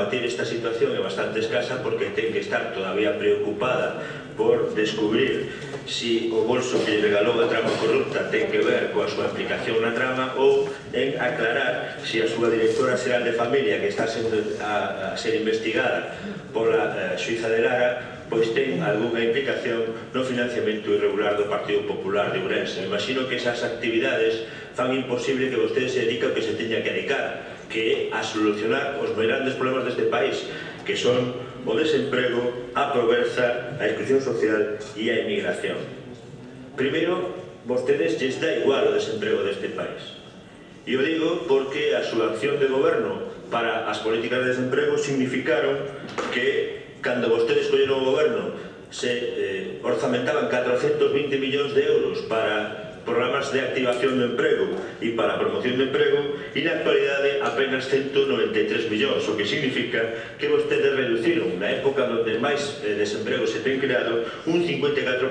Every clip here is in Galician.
combatir esta situación é bastante escasa porque ten que estar todavía preocupada por descubrir si o bolso que lle regalou a trama corrupta ten que ver coa súa implicación na trama ou en aclarar si a súa directora xeral de familia que está a ser investigada pola xuíza de Lara pois ten algunha implicación no financiamento irregular do Partido Popular de Ourense. Imagino que esas actividades fan imposible que vostede se dedique ao que se teña que dedicar, que é a solucionar os grandes problemas deste país, que son o desemprego, a pobreza, a exclusión social e a emigración. Primeiro, vostedes lles dá igual o desemprego deste país. E o digo porque a súa acción de goberno para as políticas de desemprego significaron que cando vostedes colleron o goberno se orzamentaban 420 millóns de euros para programas de activación do emprego e para a promoción do emprego e na actualidade apenas 193 millóns, o que significa que vostedes reduciron na época onde máis desemprego se ten creado un 54%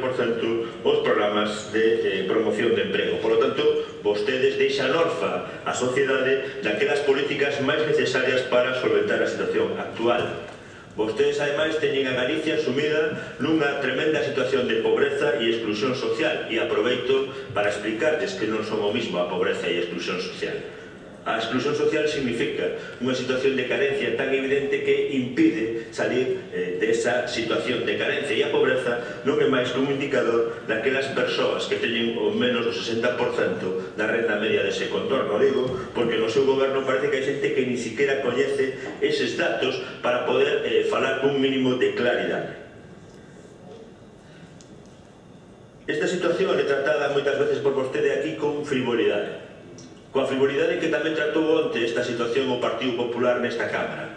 os programas de promoción de emprego. Por lo tanto, vostedes deixan orfa a sociedade daquelas políticas máis necesarias para solventar a situación actual. Vostedes, ademais, teñen a Galicia sumida nunha tremenda situación de pobreza e exclusión social e aproveito para explicarles que non son o mismo a pobreza e a exclusión social. A exclusión social significa unha situación de carencia tan evidente que impide salir desa situación de carencia e a pobreza non é máis que un indicador daquelas persoas que teñen o menos do 60% da renda media dese contorno. Digo, porque no seu goberno parece que hai xente que ni siquiera coñece eses datos para poder falar cun mínimo de claridade. Esta situación é tratada moitas veces por vostede aquí con frivolidade. Coa frivolidade que tamén tratou onte esta situación o Partido Popular nesta Cámara.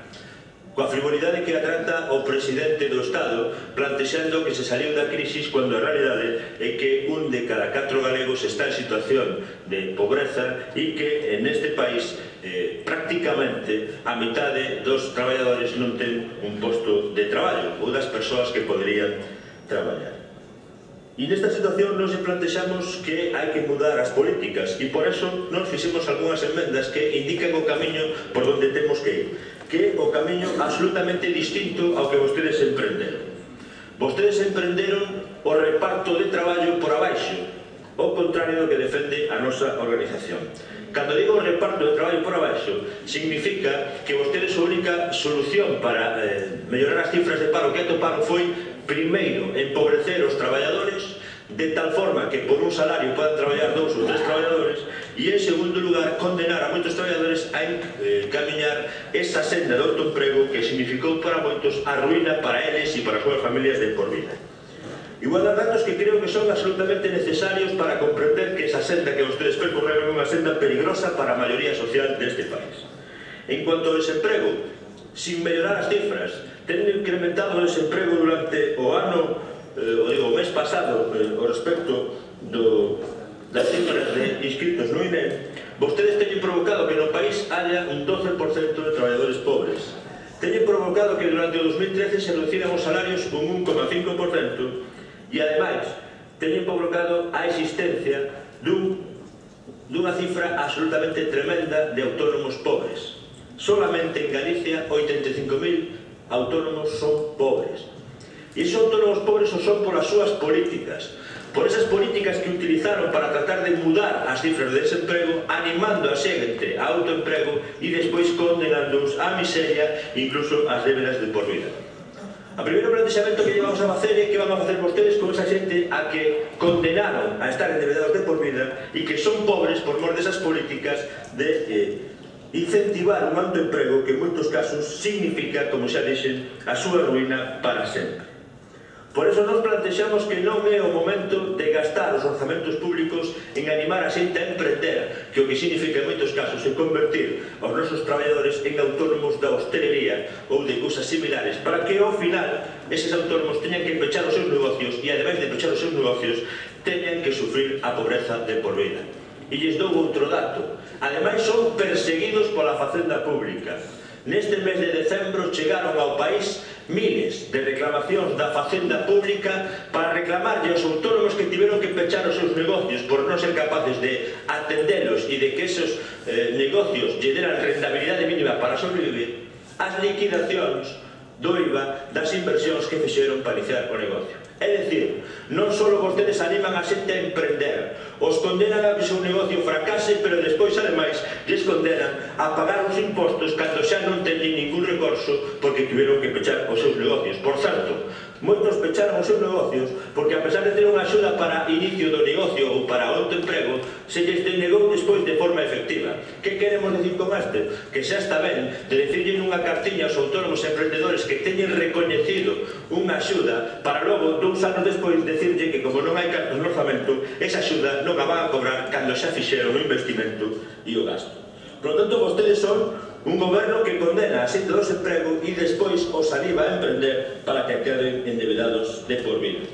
Coa frivolidade que a trata o presidente do Estado plantexando que se saliu da crisis cando a realidade é que un de cada 4 galegos está en situación de pobreza e que neste país prácticamente a mitade dos traballadores non ten un posto de traballo ou das persoas que poderían traballar. E nesta situación nos plantexamos que hai que mudar as políticas e por eso nos fixemos algunhas enmendas que indican o camiño por onde temos que ir, que é o camiño absolutamente distinto ao que vostedes emprenderon. Vostedes emprenderon o reparto de traballo por abaixo, ao contrario do que defende a nosa organización. Cando digo reparto de traballo por abaixo, significa que vostedes a única solución para mellorar as cifras de paro que atoparon foi primeiro, empobrecer os traballadores de tal forma que por un salario podan traballar 2 ou 3 traballadores e, en segundo lugar, condenar a moitos traballadores a camiñar esa senda de autoemprego que significou para moitos a ruína para eles e para as súas familias de por vida. Igual a datos que creo que son absolutamente necesarios para comprender que esa senda que vostedes percorreron é unha senda peligrosa para a maioría social deste país. En cuanto ao desemprego, sin mellorar as cifras, tendo incrementado o desemprego durante o ano, o mes pasado, o respecto das cifras de inscritos no INE, vostedes teñen provocado que no país haya un 12% de traballadores pobres. Teñen provocado que durante o 2013 se reduciran os salarios un 1,5% e, ademais, teñen provocado a existencia dunha cifra absolutamente tremenda de autónomos pobres. Solamente en Galicia 85.000 autónomos son pobres. E esos autónomos pobres o son polas súas políticas, por esas políticas que utilizaron para tratar de mudar as cifras de desemprego, animando a xente a autoemprego e despois condenándoos á miseria e incluso ás débedas de por vida. O primeiro plantexamento que llevamos a facer é que van a facer vostedes con esa xente a que condenaron a estar endebedados de por vida e que son pobres por mor desas políticas de incentivar un alto emprego que en moitos casos significa, como xa dixen, a súa ruína para sempre. Por eso nos plantexamos que non é o momento de gastar os orzamentos públicos en animar a xente a emprender, que o que significa en moitos casos é convertir os nosos traballadores en autónomos da hostelería ou de cousas similares, para que ao final eses autónomos teñan que pechar os seus negocios e, ademais de pechar os seus negocios, teñan que sufrir a pobreza de por vida. E lles dou outro dato. Ademais, son perseguidos pola Facenda Pública. Neste mes de decembro chegaron ao país miles de reclamacións da Facenda Pública para reclamarlle aos autónomos que tiveron que pechar os seus negocios por non ser capaces de atendelos e de que esos negocios lle deran rentabilidade mínima para sobrevivir, as liquidacións do IVA das inversións que fixeron para iniciar o negocio. É dicir, non só vostedes animan a xente a emprender, os condenan a que o seu negocio fracase, pero despois, ademais, les condenan a pagar os impostos cando xa non teñen ningún recurso porque tiveron que pechar os seus negocios. Por certo, moitos pecharon os seus negocios porque, a pesar de ter unha axuda para inicio do negocio ou para autoemprego, se lles denegou despois de forma efectiva. Que queremos dicir con este? Que xa está ben de decirle nunha cartiña aos autónomos e emprendedores que teñen recoñecido unha axuda para logo, 2 anos despois, decirlle que como non hai cartos no orzamento, esa axuda non a van a cobrar cando xa fixeron o investimento e o gasto. Por lo tanto, vostedes son un goberno que condena a xente do desemprego e despois os anima a emprender para que queden endebedados de por vida.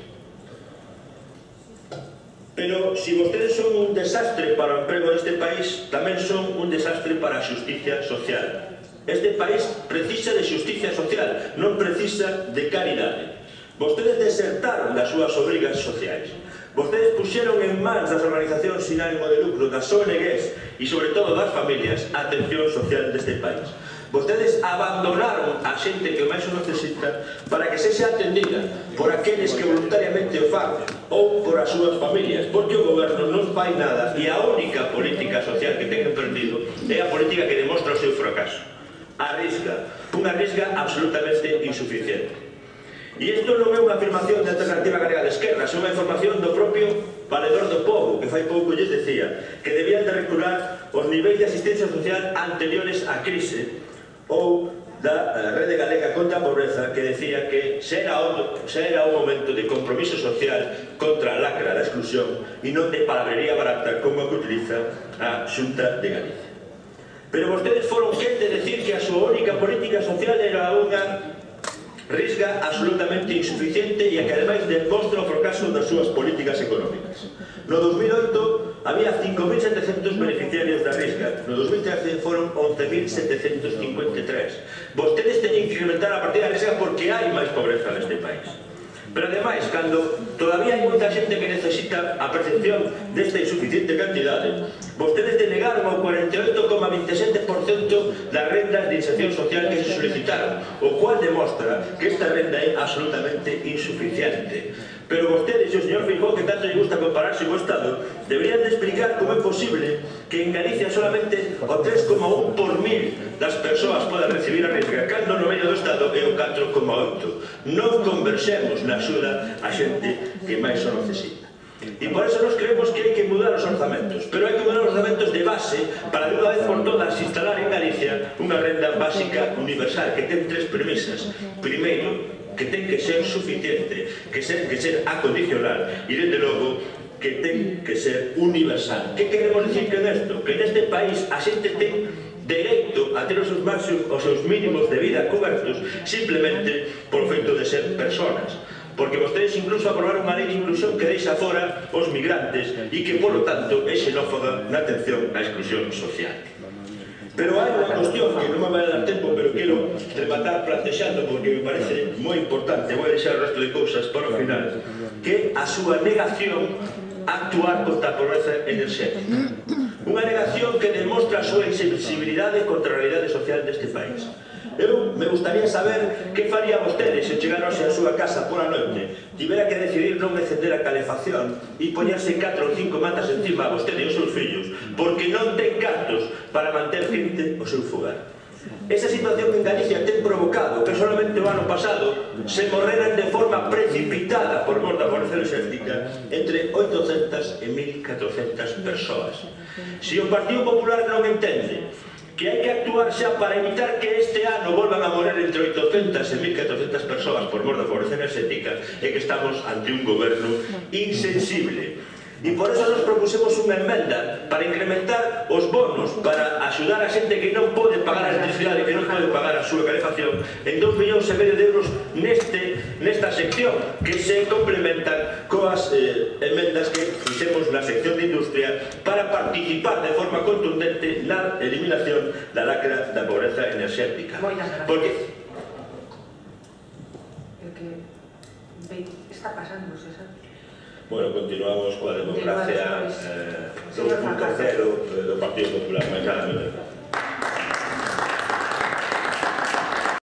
Pero, se vostedes son un desastre para o emprego deste país, tamén son un desastre para a xusticia social. Este país precisa de xusticia social, non precisa de caridade. Vostedes desertaron das súas obrigas sociais. Vostedes puxeron en mans das organizacións sin ánimo de lucro, das ONGs e, sobre todo, das familias, a atención social deste país. Vostedes abandonaron a xente que máis o necesita para que sexa atendida por aqueles que voluntariamente o fan ou por as súas familias, porque o goberno non fai nada e a única política social que ten emprendido é a política que demostra o seu fracaso. A risga, unha risga absolutamente insuficiente. E isto non é unha afirmación de Alternativa Galega de Esquerda, é unha información do propio Valedor do Pobo, que fai pouco lles decía que debían de recular os niveis de asistencia social anteriores á crise, ou da Rede Galega contra a Pobreza, que decía que xa era o momento de compromiso social contra a lacra da exclusión e non de palabrería barata como a que utiliza a Xunta de Galicia. Pero vostedes foron quen de decir que a súa única política social era unha risga absolutamente insuficiente e a que ademais demostra o fracaso das súas políticas económicas. No 2008 había 5.700 beneficiarios da risga, no 2013 foron 11.753. Vostedes teñen que incrementar a partida da risga porque hai máis pobreza neste país. Pero ademais, cando todavía hai moita xente que necesita a percepción desta insuficiente cantidade, vostedes denegaron o 48,27% das rendas de inserción social que se solicitaron, o cual demostra que esta renda é absolutamente insuficiente. Pero vostedes e o señor Feijóo, que tanto lle gusta compararse co Estado, deberían de explicar como é posible que en Galicia solamente o 3,1 por mil das persoas podan recibir a risga, cando no medio do Estado é o 4,8. Non conversemos na axuda a xente que máis o necesita. E por eso nos creemos que hai que mudar os orzamentos, pero hai que mudar os orzamentos de base para de unha vez por todas instalar en Galicia unha renda básica universal que ten 3 premisas. Primeiro, que ten que ser suficiente, que ser acondicional e, desde logo, que ten que ser universal. Que queremos dicir con isto? Que neste país a xente ten dereito a ter os seus mínimos de vida cobertos simplemente por feito de ser personas. Porque vostedes incluso aprobaron unha lei de inclusión que deixa fora os migrantes e que, polo tanto, é xenófoba na atención á exclusión social. Pero hai unha cuestión que non me vai dar tempo, pero quero rematar plantexando porque me parece moi importante, vou deixar o resto de cousas para o final, que a súa negación a actuar contra a pobreza enerxética. Unha negación que demostra a súa insensibilidade contra a realidade social deste país. Eu me gustaría saber que faría vostedes se chegarose a súa casa pola noite, tivera que decidir non encender a calefacción e poñerse 4 ou 5 mantas encima a vostede e os seus fillos, porque non ten cartos para manter quente o seu fogar. Esa situación en Galicia ten provocado que solamente o ano pasado se morreran de forma precipitada por mor da pobreza enerxética entre 800 e 1.400 persoas. Se o Partido Popular non entende que hai que actuar xa para evitar que este ano volvan a morrer entre 800 e 1.400 persoas por mor da pobreza enerxética, é que estamos ante un goberno insensible. E por eso nos propusemos unha emenda para incrementar os bonos para axudar a xente que non pode pagar a electricidade, que non pode pagar a súa calefacción, en 2,5 millóns de euros nesta sección, que se complementan coas emendas que fixemos na sección de industria para participar de forma contundente na eliminación da lacra da pobreza enerxética. Porque está pasando, César? Bueno, continuamos coa democracia 2.0 do Partido Popular, máis nada menos.